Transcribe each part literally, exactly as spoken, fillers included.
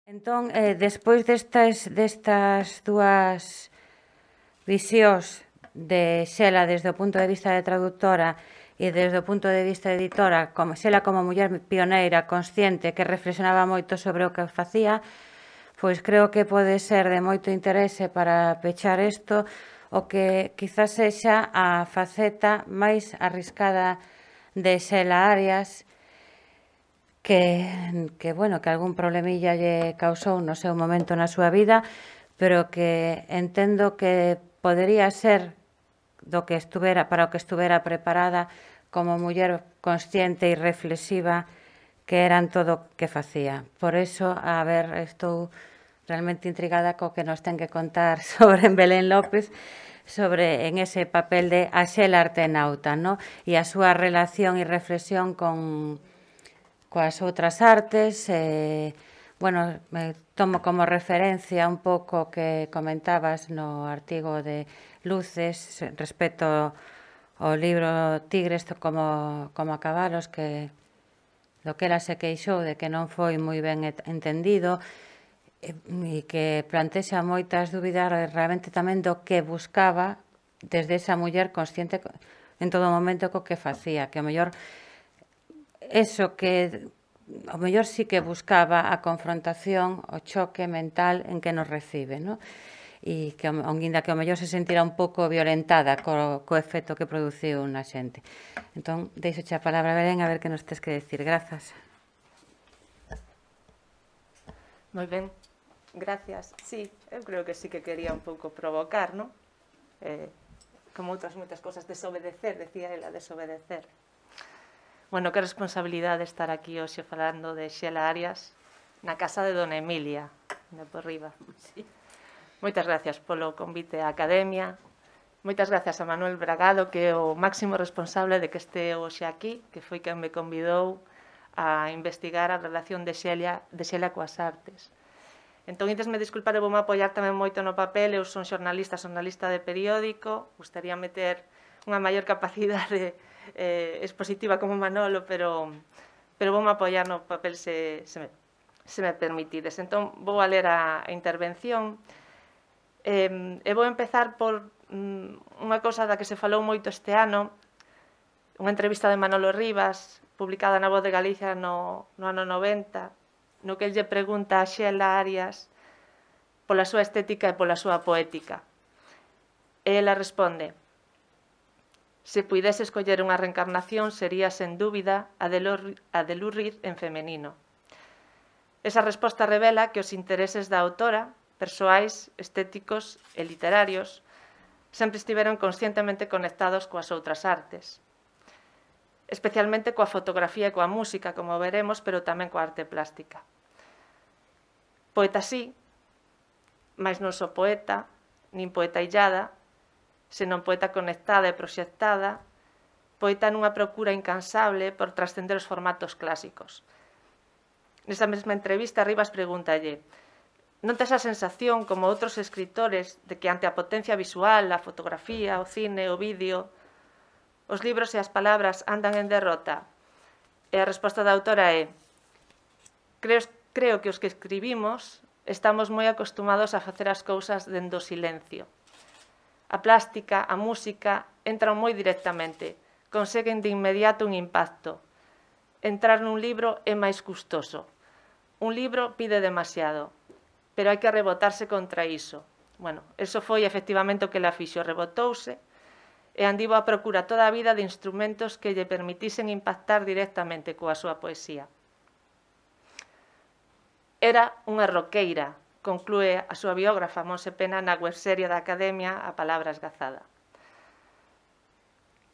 Entón, eh, despois destas, destas dúas visións de Xela desde o punto de vista de traductora e desde o punto de vista de editora, como Xela como muller pioneira, consciente, que reflexionaba moito sobre o que facía, pois creo que pode ser de moito interese para pechar isto o que quizás sexa a faceta máis arriscada de Xela Arias, que, que, bueno, que algún problemilla lle causou no seu momento na súa vida, pero que entendo que podería ser do que estuvera, para o que estuvera preparada como muller consciente e reflexiva que eran todo o que facía. Por eso, a ver, estou realmente intrigada co que nos ten que contar sobre Belén López, sobre en ese papel de a Xela artenauta, no? E a súa relación e reflexión con coas outras artes. Eh, bueno, me tomo como referencia un pouco que comentabas no artigo de Luces respecto ao libro Tigres como, como a cabalos, que do que ela se queixou de que non foi moi ben entendido e, e que plantexa moitas dúbidas realmente tamén do que buscaba desde esa muller consciente en todo momento co que facía, que o mellor eso que o mellor sí que buscaba a confrontación, o choque mental en que nos recibe, ¿no? E que, onguinda que o mellor se sentirá un pouco violentada co, co efecto que produciu na xente. Entón, deixoche a palabra, Belén, a ver que nos tes que decir. Grazas. Moi ben, gracias. Sí, eu creo que sí que quería un pouco provocar, non? Eh, como outras moitas cosas, desobedecer, decía ela, desobedecer. Bueno, que responsabilidade estar aquí hoxe falando de Xela Arias na casa de Dona Emilia, de por riba. Sí. Moitas gracias polo convite á Academia. Moitas gracias a Manuel Bragado, que é o máximo responsable de que este hoxe aquí, que foi quen me convidou a investigar a relación de Xela, de Xela coas artes. Entón, intesme disculpar, eu vou me apoiar tamén moito no papel. Eu son xornalista, xornalista de periódico. Gustaría meter unha maior capacidade eh, expositiva como Manolo, pero, pero vou me apoiar no papel se, se, me, se me permitides. Entón, vou a ler a, a intervención. Eh, e vou empezar por mm, unha cousa da que se falou moito este ano, unha entrevista de Manolo Rivas, publicada na Voz de Galicia no, no ano noventa, no que el lle pregunta a Xela Arias pola súa estética e pola súa poética. E ela responde: se puidese escoller unha reencarnación, sería, sen dúbida, a de, Lur, a de Lurrir en femenino. Esa resposta revela que os intereses da autora, persoais, estéticos e literarios, sempre estiveron conscientemente conectados coas outras artes, especialmente coa fotografía e coa música, como veremos, pero tamén coa arte plástica. Poeta sí, mas non só poeta, nin poeta illada, senón poeta conectada e proxectada, poeta nunha procura incansable por trascender os formatos clásicos. Nesa mesma entrevista, Rivas pregúntalle: non tes a sensación, como outros escritores, de que ante a potencia visual, a fotografía, o cine, o vídeo, os libros e as palabras andan en derrota? E a resposta da autora é: creo, creo que os que escribimos estamos moi acostumados a facer as cousas dende o silencio. A plástica, a música, entran moi directamente, conseguen de inmediato un impacto. Entrar nun libro é máis custoso. Un libro pide demasiado, pero hai que rebotarse contra iso. Bueno, eso foi efectivamente o que la fixo, rebotouse, e andivo a procura toda a vida de instrumentos que lle permitisen impactar directamente coa súa poesía. Era unha roqueira, conclúe a súa biógrafa Monse Pena na webserie da Academia A Palabra Esgazada.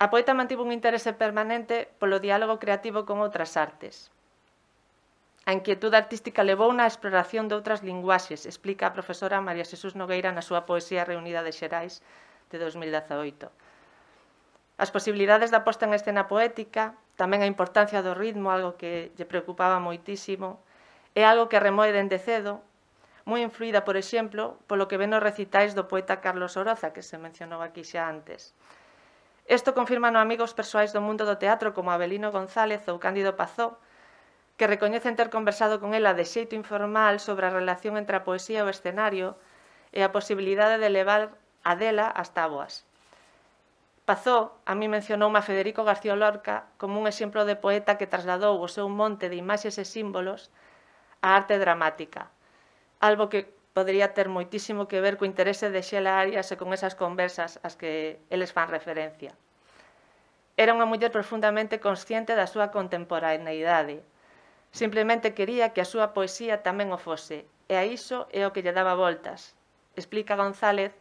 A poeta mantivo un interese permanente polo diálogo creativo con outras artes. A inquietude artística levou na exploración de outras linguaxes, explica a profesora María Xesús Nogueira na súa Poesía Reunida de Xerais de dos mil dezaoito. As posibilidades da posta en escena poética, tamén a importancia do ritmo, algo que lle preocupaba moitísimo, é algo que remoe dende cedo, moi influída, por exemplo, polo que ven nos recitais do poeta Carlos Oroza, que se mencionou aquí xa antes. Isto confirman amigos persoais do mundo do teatro como Abelino González ou Cándido Pazó, que recoñecen ter conversado con ela de xeito informal sobre a relación entre a poesía e o escenario e a posibilidade de levar a dela ás táboas. Pazó a mí mencionoume a Federico García Lorca como un exemplo de poeta que trasladou o seu monte de imaxes e símbolos á arte dramática, algo que podería ter moitísimo que ver co interese de Xela Arias e con esas conversas ás que eles fan referencia. Era unha muller profundamente consciente da súa contemporaneidade. Simplemente quería que a súa poesía tamén o fose, e a iso é o que lle daba voltas. Explica González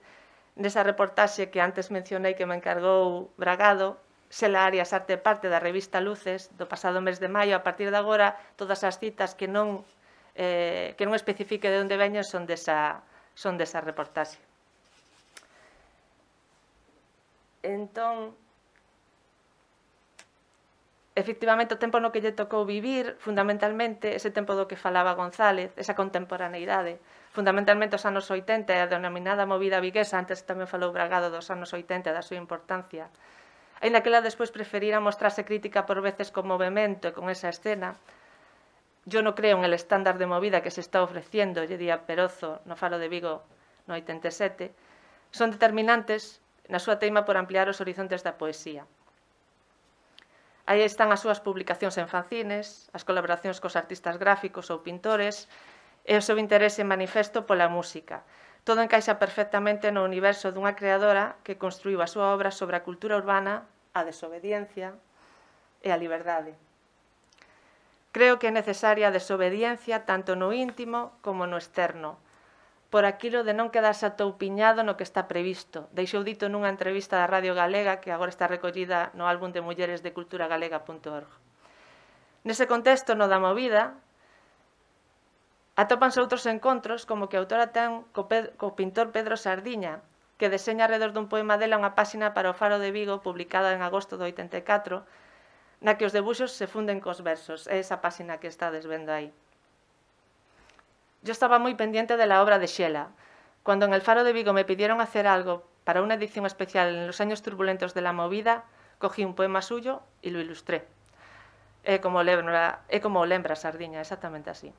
nesa reportaxe que antes mencionei que me encargou Bragado, Xela Arias arte parte da revista Luces do pasado mes de maio. A partir de agora, todas as citas que non, eh, que non especifique de onde veñen son desa, son desa reportaxe. Entón, efectivamente, o tempo no que lle tocou vivir, fundamentalmente, ese tempo do que falaba González, esa contemporaneidade, fundamentalmente os anos oitenta e a denominada movida viguesa, antes tamén falou Bragado dos anos oitenta e da súa importancia. Ainda que ela despois preferira mostrarse crítica por veces con movimento e con esa escena, yo non creo en el estándar de movida que se está ofreciendo, lle día Perozo no Faro de Vigo no oitenta e sete, son determinantes na súa teima por ampliar os horizontes da poesía. Aí están as súas publicacións en fanzines, as colaboracións cos artistas gráficos ou pintores e o seu interese manifesto pola música. Todo encaixa perfectamente no universo dunha creadora que construíu a súa obra sobre a cultura urbana, a desobediencia e a liberdade. Creo que é necesaria a desobediencia tanto no íntimo como no externo, por aquilo de non quedarse atoupiñado no que está previsto. Deixou dito nunha entrevista da Radio Galega que agora está recollida no álbum de mulleres de cultura galega punto org. Nese contexto, no da movida, atópanse outros encontros como que a autora ten co, co pintor Pedro Sardiña, que deseña alrededor dun poema dela unha páxina para o Faro de Vigo publicada en agosto do oitenta e catro, na que os debuxos se funden cos versos. É esa páxina que estades vendo aí. Yo estaba moi pendiente de la obra de Xela. Cuando en el Faro de Vigo me pidieron hacer algo para una edición especial en los años turbulentos de la movida, cogí un poema suyo y lo ilustré. É como lembra, é como lembra Sardiña, exactamente así.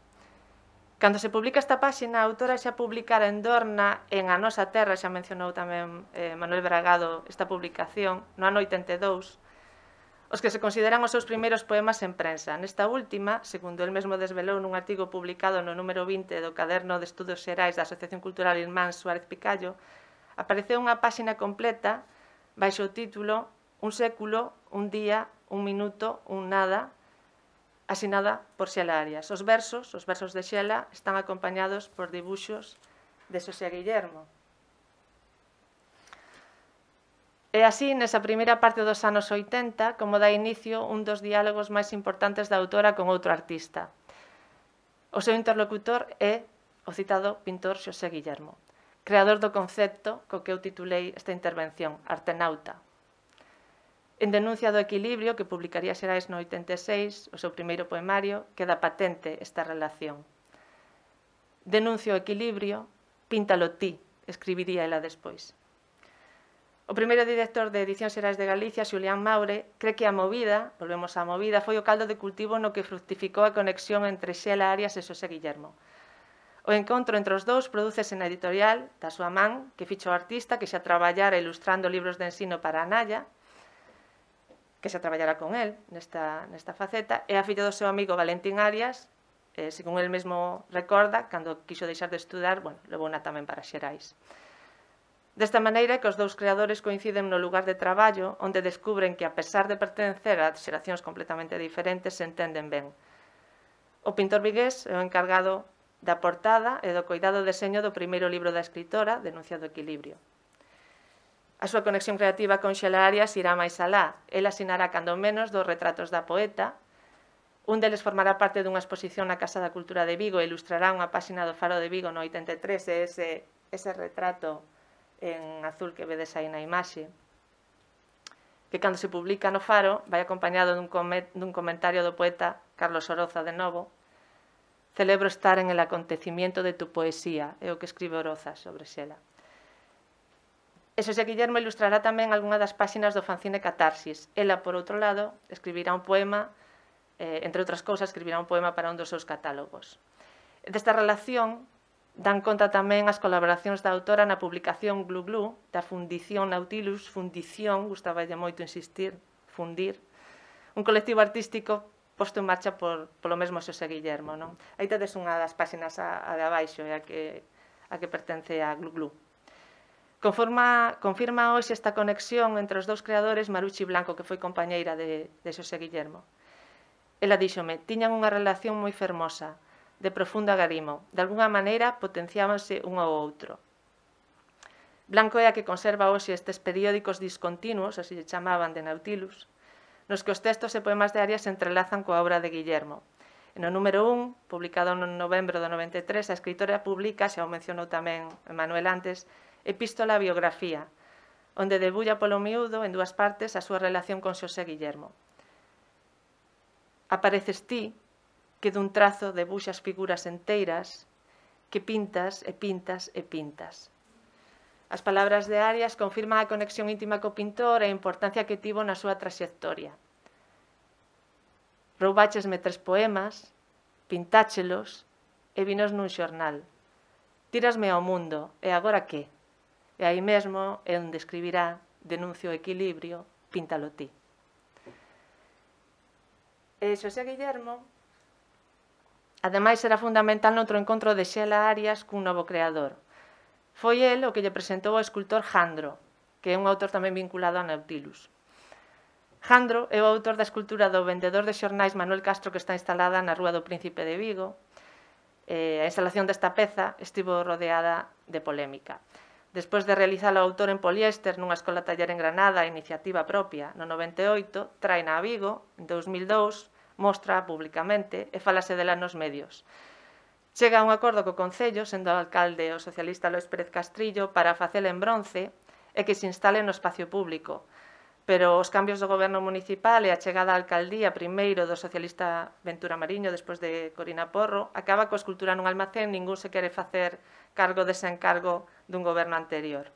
Cando se publica esta páxina, a autora xa publicara en Dorna, en A Nosa Terra, xa mencionou tamén eh, Manuel Bragado esta publicación, no ano oitenta e dous, os que se consideran os seus primeiros poemas en prensa. Nesta última, segundo el mesmo desvelou nun artigo publicado no número vinte do Caderno de Estudos Xerais da Asociación Cultural Irmán Suárez Picallo, apareceu unha páxina completa baixo o título Un século, un día, un minuto, un nada, asinada por Xela Arias. Os versos, os versos de Xela, están acompañados por dibuxos de Xosé Guillermo. E así, nesa primeira parte dos anos oitenta, como dá inicio un dos diálogos máis importantes da autora con outro artista. O seu interlocutor é o citado pintor Xosé Guillermo, creador do concepto co que eu titulei esta intervención, Artenauta. En Denuncia do equilibrio, que publicaría Xerais no oitenta e seis, o seu primeiro poemario, queda patente esta relación. Denuncio o equilibrio, píntalo ti, escribiría ela despois. O primeiro director de Edicións Xerais de Galicia, Xulián Maure, cree que a movida, volvemos á movida, foi o caldo de cultivo no que fructificou a conexión entre Xela Arias e Xosé Guillermo. O encontro entre os dous prodúcese na editorial da súa man, que ficha o artista, que xa traballara ilustrando libros de ensino para a Naya, que xa traballara con el nesta, nesta faceta, e a filla do seu amigo Valentín Arias, eh, según el mesmo recorda, cando quixo deixar de estudar, bueno, levouna tamén para Xerais. Desta maneira que os dous creadores coinciden no lugar de traballo, onde descubren que, a pesar de pertencer a xeracións completamente diferentes, se entenden ben. O pintor vigués é o encargado da portada e do coidado deseño do primeiro libro da escritora, Denuncia do equilibrio. A súa conexión creativa con Xela Arias irá máis alá. El asinará cando menos dos retratos da poeta. Un deles formará parte dunha exposición na Casa da Cultura de Vigo e ilustrará unha páxina do Faro de Vigo no oitenta e tres, e ese, ese retrato en azul que vedes aí na imaxe, que cando se publica no Faro vai acompañado dun, dun comentario do poeta Carlos Oroza de novo. Celebro estar en el acontecimiento de tu poesía, é o que escribe Oroza sobre Xela. E Xosé Guillermo ilustrará tamén algunha das páxinas do fanzine Catarsis. Ela, por outro lado, escribirá un poema eh, entre outras cousas, escribirá un poema para un dos seus catálogos. Desta relación dan conta tamén as colaboracións da autora na publicación Glu Glu, da Fundición Nautilus, fundición, gustaballe moito insistir, fundir, un colectivo artístico posto en marcha por, polo mesmo Xosé Guillermo. Non? Aí tedes unha das páxinas a, a de abaixo, a que, a que pertence a Glu Glu. Conforma, confirma hoxe esta conexión entre os dous creadores Maruchi Blanco, que foi compañeira de, de Xosé Guillermo. Ela díxome, tiñan unha relación moi fermosa, de profundo agarimo. De alguna maneira potenciábanse un ao outro. Blanco é a que conserva hoxe estes periódicos discontinuos, así se chamaban, de Nautilus, nos que os textos e poemas de Arias se entrelazan coa obra de Guillermo. No número un, publicado no novembro do noventa e tres, a escritora publica, xa o mencionou tamén Manuel antes, Epístola a Biografía, onde debulla polo miúdo, en dúas partes, a súa relación con Xosé Guillermo. Apareces ti, que dun trazo debuxas figuras enteiras, que pintas e pintas e pintas. As palabras de Arias confirman a conexión íntima co pintor e a importancia que tivo na súa traxectoria. Roubáchesme tres poemas, pintáchelos e vinos nun xornal. Tírasme ao mundo, e agora que? E aí mesmo é onde escribirá denuncio o equilibrio, píntalo ti. E Xosé Guillermo, ademais, será fundamental noutro encontro de Xela Arias cun novo creador. Foi el o que lle presentou ao escultor Jandro, que é un autor tamén vinculado a Nautilus. Jandro é o autor da escultura do vendedor de xornais Manuel Castro, que está instalada na Rúa do Príncipe de Vigo. A instalación desta peza estivo rodeada de polémica. Despois de realizar o autor en poliéster nunha escola taller en Granada, a iniciativa propia, no noventa e oito, traina a Vigo, en dous mil dous, mostra públicamente e falase dela nos medios. Chega a un acordo co Concello, sendo o alcalde o socialista Lois Pérez Castrillo, para facela en bronce e que se instale no espacio público. Pero os cambios do goberno municipal e a chegada á alcaldía primeiro do socialista Ventura Mariño, despois de Corina Porro, acaba coa escultura nun almacén, ningún se quere facer cargo dese encargo dun goberno anterior.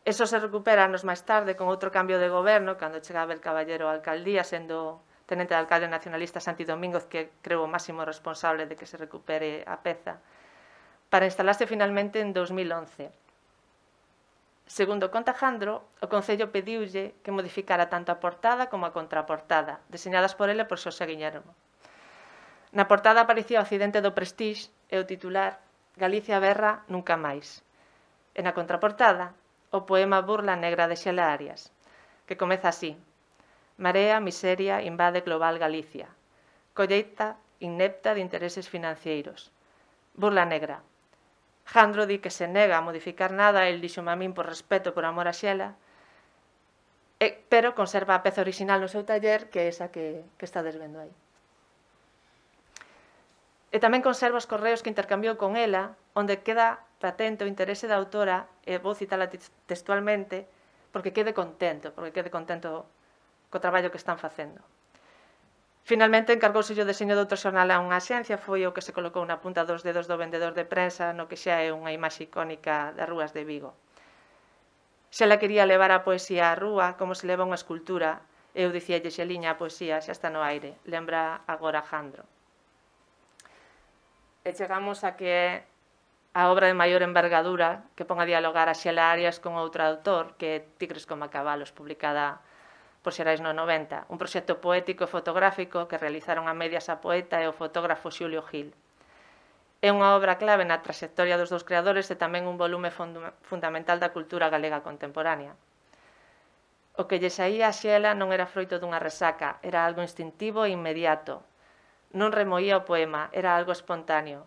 Eso se recupera anos máis tarde con outro cambio de goberno, cando chega Abel Caballero á alcaldía, sendo tenente de alcalde nacionalista Santi Domínguez, que creo o máximo responsable de que se recupere a peza, para instalarse finalmente en dous mil once. Segundo conta Jandro, o Concello pediulle que modificara tanto a portada como a contraportada, deseñadas por ele por Xosé Guillermo. Na portada aparecía o accidente do Prestige e o titular Galicia berra nunca máis. E na contraportada, o poema Burla negra de Xela Arias, que comeza así: Marea, miseria, invade global Galicia. Colleita inepta de intereses financeiros. Burla negra. Jandro di que se nega a modificar nada, el dixome a min por respeto, por amor a Xela, e, pero conserva a peza original no seu taller, que é esa que, que estades vendo aí. E tamén conserva os correos que intercambiou con ela, onde queda patente o interese da autora, e vou citala textualmente, porque quede contento, porque quede contento co traballo que están facendo. Finalmente, encargouse o deseño de outro xornal a unha axencia, foi o que se colocou na punta dos dedos do vendedor de prensa, no que xa é unha imaxe icónica das rúas de Vigo. Xa la quería levar a poesía á rúa, como se leva unha escultura, e eu dicíalle, Xeliña, a poesía xa está no aire, lembra agora Jandro. E chegamos a que é a obra de maior envergadura que pon a dialogar a Xela Arias con outro autor, que é Tigres como cabalos, publicada por Xerais no noventa, un proxecto poético e fotográfico que realizaron a medias a poeta e o fotógrafo Xulio Gil. É unha obra clave na traxectoria dos dous creadores e tamén un volume fundamental da cultura galega contemporánea. O que lle saía a Xela non era froito dunha resaca, era algo instintivo e inmediato. Non remoía o poema, era algo espontáneo.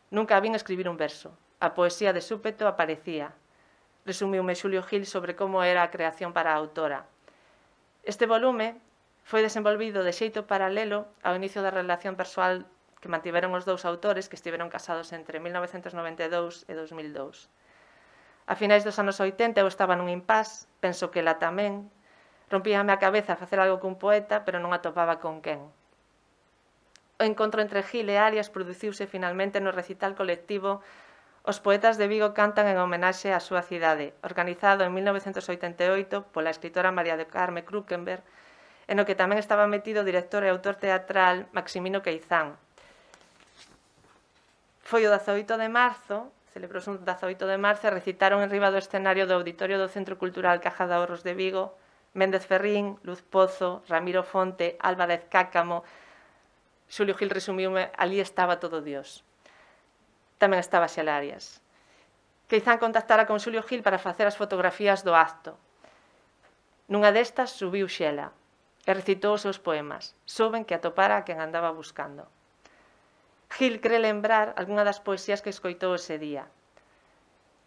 Nunca a vin escribir un verso. A poesía de súpeto aparecía. Resumiume Xulio Gil sobre como era a creación para a autora. Este volume foi desenvolvido de xeito paralelo ao inicio da relación persoal que mantiveron os dous autores, que estiveron casados entre mil novecentos noventa e dous e dos mil dous. A finais dos anos oitenta eu estaba nun impás, penso que ela tamén. Rompíame a cabeza a facer algo cun poeta, pero non atopaba con quen. O encontro entre Gil e Arias produciuse finalmente no recital colectivo Os poetas de Vigo cantan en homenaxe á súa cidade, organizado en mil novecentos oitenta e oito pola escritora María do Carme Krukenberg e no que tamén estaba metido o director e autor teatral Maximino Queizán. Foi o dezaoito de marzo, celebrouse un dezaoito de marzo, e recitaron en riba do escenario do Auditorio do Centro Cultural Caja de Ahorros de Vigo Méndez Ferrín, Luz Pozo, Ramiro Fonte, Álvarez Cácamo. Xulio Gil resumiume, ali estaba todo Dios. Tamén estaba Xela Arias. Queizán contactara con Xulio Gil para facer as fotografías do acto. Nunha destas subiu Xela e recitou os seus poemas. Souben que atopara a quen andaba buscando. Gil cree lembrar algunha das poesías que escoitou ese día.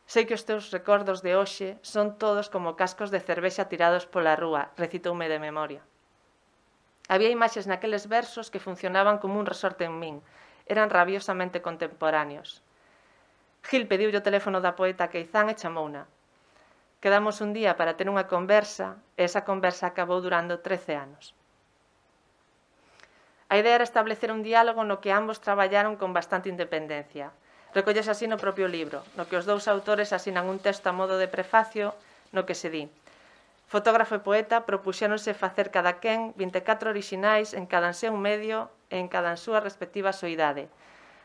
Sei que os teus recordos de hoxe son todos como cascos de cervexa tirados pola rúa, recitoume de memoria. Había imaxes naqueles versos que funcionaban como un resorte en min. Eran rabiosamente contemporáneos. Gil pediulle o teléfono da poeta Queizán e chamouna. Quedamos un día para ter unha conversa e esa conversa acabou durando trece anos. A idea era establecer un diálogo no que ambos traballaron con bastante independencia. Recollese así no propio libro, no que os dous autores asinan un texto a modo de prefacio no que se di: fotógrafo e poeta propuxéronse facer cada quen vinte e catro orixinais en cada seu medio e en cada súa respectiva soidade.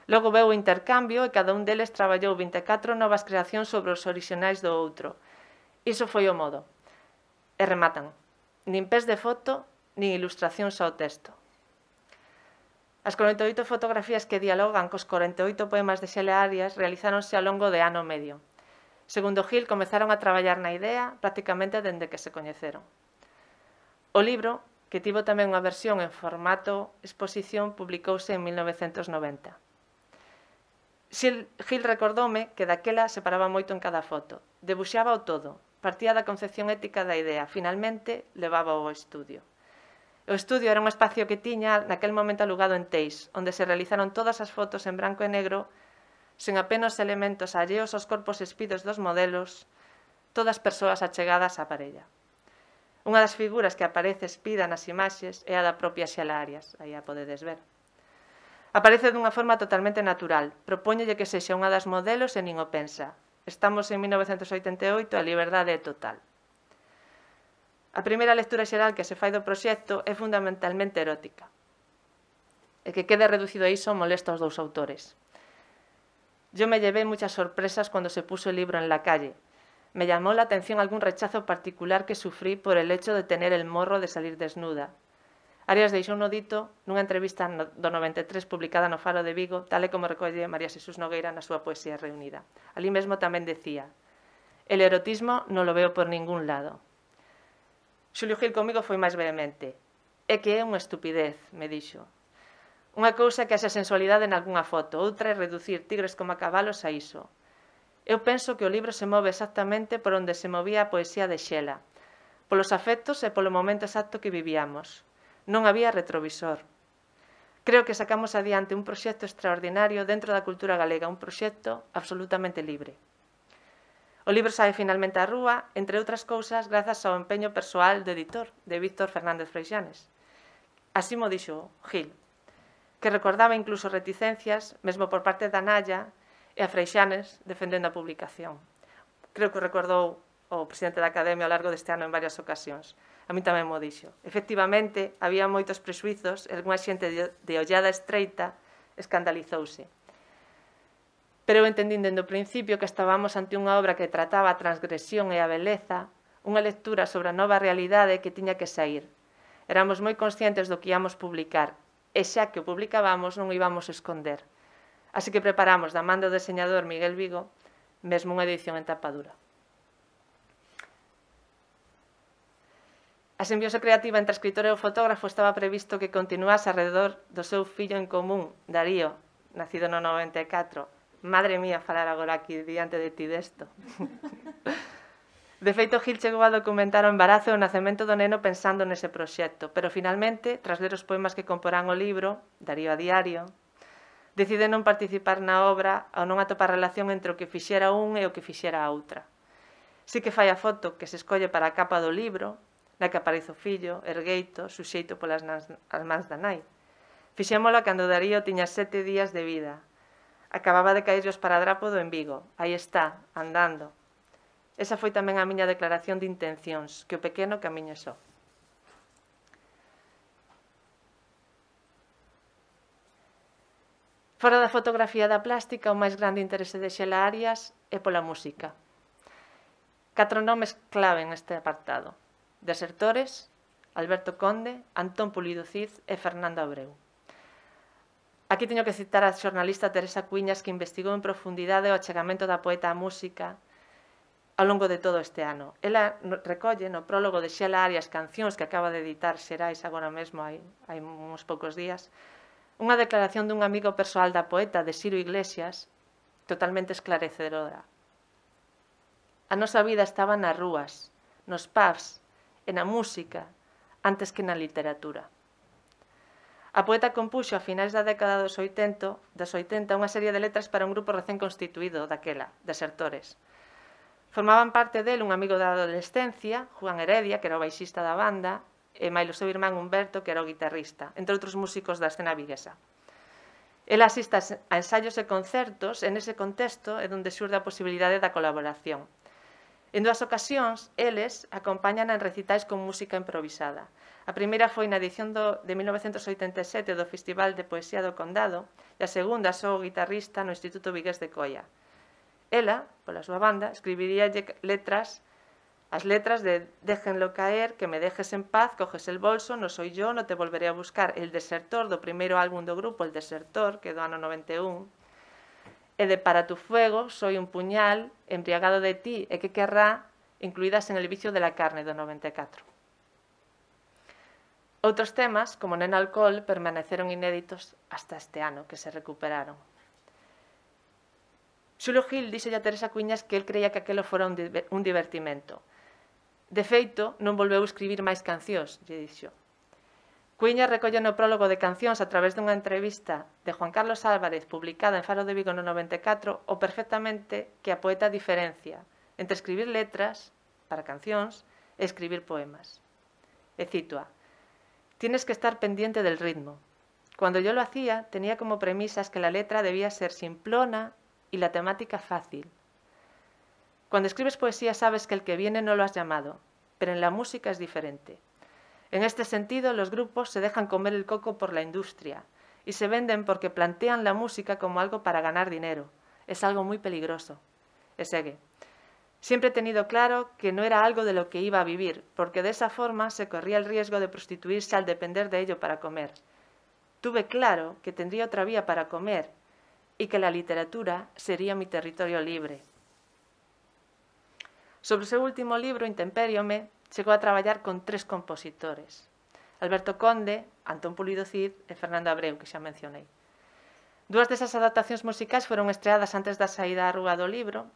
Logo veu o intercambio e cada un deles traballou vinte e catro novas creacións sobre os orixinais do outro. Iso foi o modo. E rematan: nin pés de foto, nin ilustracións ao texto. As corenta e oito fotografías que dialogan cos corenta e oito poemas de Xela Arias realizáronse ao longo de ano e medio. Segundo Gil, comezaron a traballar na idea prácticamente dende que se coñeceron. O libro, que tivo tamén unha versión en formato exposición, publicouse en mil novecentos noventa. Gil recordoume que daquela se paraba moito en cada foto. Debuxaba o todo, partía da concepción ética da idea, finalmente levaba ao estudio. O estudio era un espacio que tiña naquel momento alugado en Teis, onde se realizaron todas as fotos en branco e negro, sen apenas elementos alleos aos corpos espidos dos modelos, todas persoas achegadas á parella. Unha das figuras que aparece espida nas imaxes é a da propia Xela Arias, aí a podedes ver. Aparece dunha forma totalmente natural, propóñelle que sexa unha das modelos e nin o pensa. Estamos en mil novecentos oitenta e oito e a liberdade é total. A primeira lectura xeral que se fai do proxecto é fundamentalmente erótica. E que quede reducido a iso molesta aos dous autores. Yo me llevé muchas sorpresas cuando se puso el libro en la calle. Me llamó la atención algún rechazo particular que sufrí por el hecho de tener el morro de salir desnuda. Arias deixou no dito nunha entrevista do noventa e tres publicada no Faro de Vigo, tal e como recolle María Xesús Nogueira na súa poesía reunida. Alí mesmo tamén decía: el erotismo non lo veo por ningún lado. Xulio Gil comigo foi máis vehemente. É que é unha estupidez, me dixo. Unha cousa que haxa sensualidade en algunha foto, outra é reducir tigres como a cabalos a iso. Eu penso que o libro se move exactamente por onde se movía a poesía de Xela, polos afectos e polo momento exacto que vivíamos. Non había retrovisor. Creo que sacamos adiante un proxecto extraordinario dentro da cultura galega, un proxecto absolutamente libre. O libro sae finalmente á rúa, entre outras cousas, grazas ao empeño persoal do editor, de Víctor Fernández Freixanes. Así mo dixo Gil, que recordaba incluso reticencias, mesmo por parte da Naya e a Freixanes, defendendo a publicación. Creo que recordou o presidente da Academia ao largo deste ano en varias ocasións. A mí tamén mo dixo. Efectivamente, había moitos presuizos e algunha xente de ollada estreita escandalizouse. Pero eu entendín dende o principio que estábamos ante unha obra que trataba a transgresión e a beleza, unha lectura sobre a nova realidade que tiña que sair. Éramos moi conscientes do que íamos publicar, e xa que o publicábamos non o íbamos esconder. Así que preparamos, da man do deseñador Miguel Vigo, mesmo unha edición en tapa dura. A simbiose creativa entre a escritora e o fotógrafo estaba previsto que continuase alrededor do seu fillo en común, Darío, nacido no noventa e catro. Madre mía, falar agora aquí diante de ti desto. De feito, Gil chegou a documentar o embarazo e o nacemento do neno pensando nese proxecto, pero finalmente, tras ler os poemas que comporán o libro, Darío a diario, decide non participar na obra ao non atopar relación entre o que fixera un e o que fixera a outra. Si que fai a foto que se escolle para a capa do libro, na que aparece o fillo, ergueito, suxeito polas mans da nai. Fixémolo cando Darío tiña sete días de vida. Acababa de caerlle o esparadrapo do en Vigo. Aí está, andando. Esa foi tamén a miña declaración de intencións, que o pequeno camiñe só. Fora da fotografía e da plástica, o máis grande interese de Xela Arias é pola música. Catro nomes clave neste apartado: Desertores, Alberto Conde, Antón Pulido Cid e Fernando Abreu. Aquí teño que citar a xornalista Teresa Cuiñas, que investigou en profundidade o achegamento da poeta á música ao longo de todo este ano. Ela recolle no prólogo de Xela Arias Cancións, que acaba de editar Xerais agora mesmo, hai, hai uns poucos días, unha declaración dun amigo persoal da poeta, de Ciro Iglesias, totalmente esclarecedora. A nosa vida estaba nas rúas, nos pubs e na música, antes que na literatura. A poeta compuxo a finais da década dos oitenta, dos oitenta unha serie de letras para un grupo recén constituído daquela, Desertores. Formaban parte del un amigo da adolescencia, Juan Heredia, que era o baixista da banda, e mailo seu irmán Humberto, que era o guitarrista, entre outros músicos da escena viguesa. El asiste a ensaios e concertos, e nese contexto é onde xurde a posibilidade da colaboración. En dúas ocasións, eles acompañan en recitais con música improvisada. A primeira foi na edición do, de mil novecentos oitenta e sete do Festival de Poesía do Condado, e a segunda só o guitarrista no Instituto Vigués de Coia. Ela, pola súa banda, escribiría letras, as letras de Déjenlo caer, que me dejes en paz, coges el bolso, no soy yo, no te volveré a buscar. El Desertor, do primeiro álbum do grupo, El Desertor, que é do ano noventa e un, e de Para tu fuego, Soy un puñal, Embriagado de ti, e que querrá, incluídas en El vicio de la carne, do noventa e catro. Outros temas, como Nen Alcohol, permaneceron inéditos hasta este ano, que se recuperaron. Xulio Gil dixo a Teresa Cuiñas que el creía que aquelo fora un divertimento. De feito, non volveu escribir máis cancións, lle dixo. Cuiñas recolle no prólogo de Cancións a través dunha entrevista de Juan Carlos Álvarez publicada en Faro de Vigo no noventa e catro o perfectamente que a poeta diferencia entre escribir letras para cancións e escribir poemas. E cito a: «Tienes que estar pendiente del ritmo. Cuando yo lo hacía, tenía como premisas que la letra debía ser simplona y la temática fácil. Cuando escribes poesía sabes que el que viene no lo has llamado, pero en la música es diferente. En este sentido, los grupos se dejan comer el coco por la industria y se venden porque plantean la música como algo para ganar dinero. Es algo muy peligroso». E segue: «Siempre he tenido claro que no era algo de lo que iba a vivir, porque de esa forma se corría el riesgo de prostituirse al depender de ello para comer. Tuve claro que tendría otra vía para comer y que la literatura sería mi territorio libre». Sobre o seu último libro, Intempériome, chegou a traballar con tres compositores: Alberto Conde, Antón Pulido Cid e Fernando Abreu, que xa mencionei. Dúas desas adaptacións musicais foron estreadas antes da saída á rúa do libro.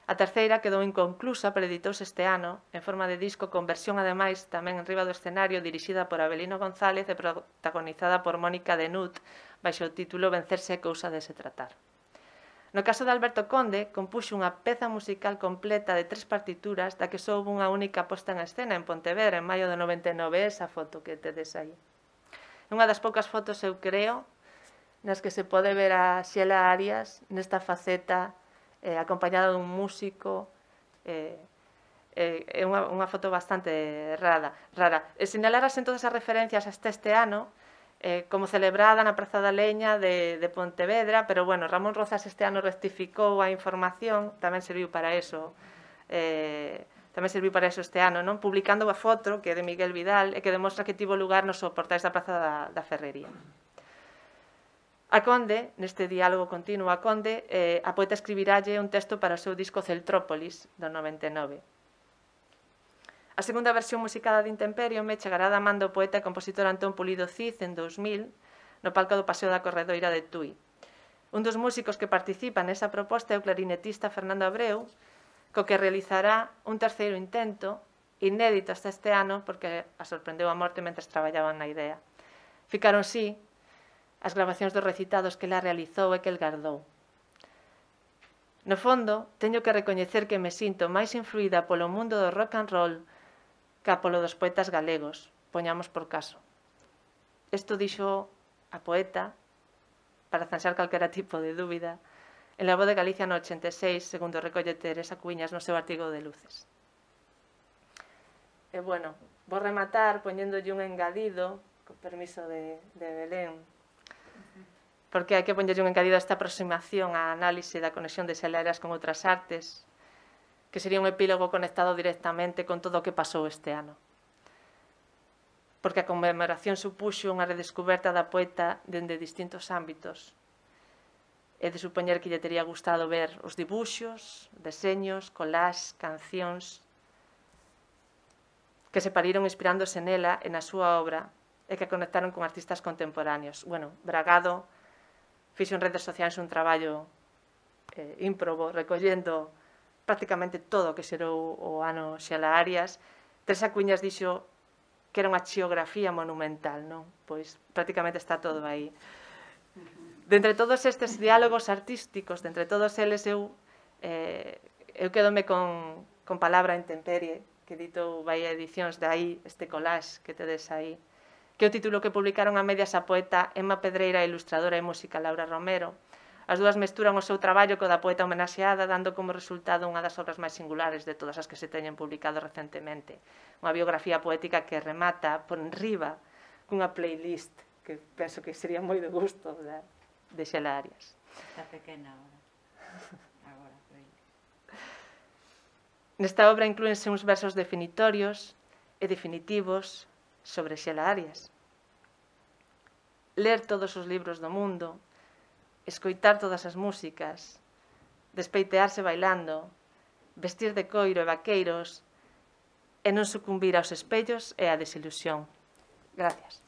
A terceira quedou inconclusa, pero editouse este ano, en forma de disco, con versión, ademais, tamén en riba do escenario, dirixida por Abelino González e protagonizada por Mónica Denut, baixo o título Vencerse é cousa de se tratar. No caso de Alberto Conde, compuxo unha peza musical completa de tres partituras, da que só houve unha única posta en escena en Pontevedra, en maio de noventa e nove, esa foto que tedes aí. É unha das poucas fotos, eu creo, nas que se pode ver a Xela Arias nesta faceta, eh, acompañada dun músico. Eh, eh, é unha, unha foto bastante rara. rara. E sinalarasen todas as referencias hasta este ano, Eh, como celebrada na Praza da Leña de, de Pontevedra, pero, bueno, Ramón Rozas este ano rectificou a información, tamén serviu para eso, eh, tamén serviu para eso este ano, non? Publicando a foto, que é de Miguel Vidal, e que demostra que tivo lugar nos soportais da Praza da, da Ferrería. A Conde, neste diálogo continuo a Conde, eh, a poeta escribiralle un texto para o seu disco Celtrópolis, do noventa e nove. A segunda versión musicada de Intempériome chegará da man do poeta e compositor Antón Pulido Cid en dous mil, no palco do Paseo da Corredoira de Tui. Un dos músicos que participa nesa proposta é o clarinetista Fernando Abreu, co que realizará un terceiro intento, inédito hasta este ano, porque a sorprendeu a morte mentre traballaban na idea. Ficaron, sí, as grabacións dos recitados que ela realizou e que el gardou. No fondo, teño que recoñecer que me sinto máis influída polo mundo do rock and roll ca polo dos poetas galegos, poñamos por caso. Isto dixo a poeta, para zanxar calquera tipo de dúbida, en La Voz de Galicia no ochenta e seis, segundo recolle Teresa Cuiñas no seu artigo de Luces. E, bueno, vou rematar poñéndolle un engadido, con permiso de, de Belén. porque hai que poñerlle un encadido a esta aproximación á análise da conexión de Xela Arias con outras artes, que sería un epílogo conectado directamente con todo o que pasou este ano. Porque a conmemoración supuxo unha redescoberta da poeta dende distintos ámbitos. É de supoñer que lle tería gustado ver os dibuxos, deseños, collage, cancións, que se pariron inspirándose nela e na súa obra e que conectaron con artistas contemporáneos. Bueno, Bragado fixo en redes sociais un traballo eh, ímprobo, recollendo prácticamente todo o que xerou o ano Xela Arias. Teresa Cuiñas dixo que era unha xeografía monumental, non? Pois prácticamente está todo aí. De entre todos estes diálogos artísticos, de entre todos eles, eu, eh, eu quedome con, con Palabra Intemperie, que editou Bahía Edicións, de aí este collage que tedes aí, que é o título que publicaron a medias a poeta Emma Pedreira e a ilustradora e música Laura Romero. As dúas mesturan o seu traballo co da poeta homenaxeada, dando como resultado unha das obras máis singulares de todas as que se teñen publicado recentemente. Unha biografía poética que remata por enriba cunha playlist que penso que sería moi de gusto de, de Xela Arias. Está pequena agora. Agora, Nesta obra inclúense uns versos definitorios e definitivos sobre Xela Arias. Ler todos os libros do mundo, escoitar todas as músicas, despeitearse bailando, vestir de coiro e vaqueiros e non sucumbir aos espellos e á desilusión. Gracias.